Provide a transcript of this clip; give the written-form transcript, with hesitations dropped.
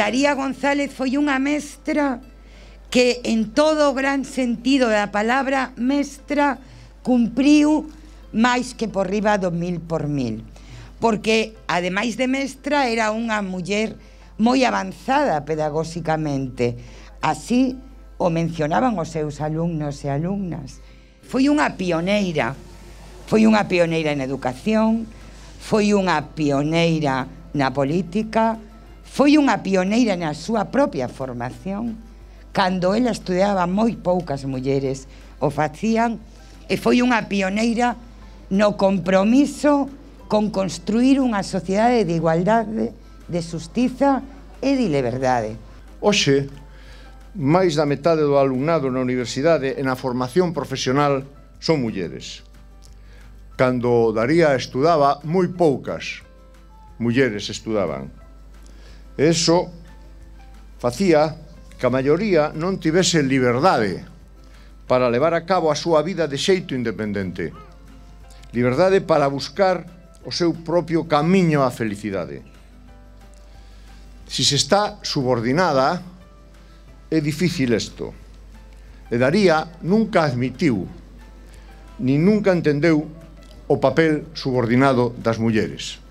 Daría González foi unha mestra que en todo o gran sentido da palabra mestra cumpriu máis que por riba do 1000 por 1000, porque ademais de mestra era unha muller moi avanzada pedagóxicamente, así o mencionaban os seus alumnos e alumnas. Foi unha pioneira en educación, foi unha pioneira na política, foi unha pioneira na súa propia formación. Cando ela estudiaba, moi poucas mulleres o facían, e foi unha pioneira no compromiso con construir unha sociedade de igualdade, de xustiza e de liberdade. Hoxe, máis da metade do alumnado na universidade e na formación profesional son mulleres. Cando Daría estudaba, moi poucas mulleres estudaban. E iso facía que a maioría non tivese liberdade para levar a cabo a súa vida de xeito independente. Liberdade para buscar o seu propio camiño á felicidade. Si se está subordinada, é difícil isto. E Daría nunca admitiu, ni nunca entendeu o papel subordinado das mulleres.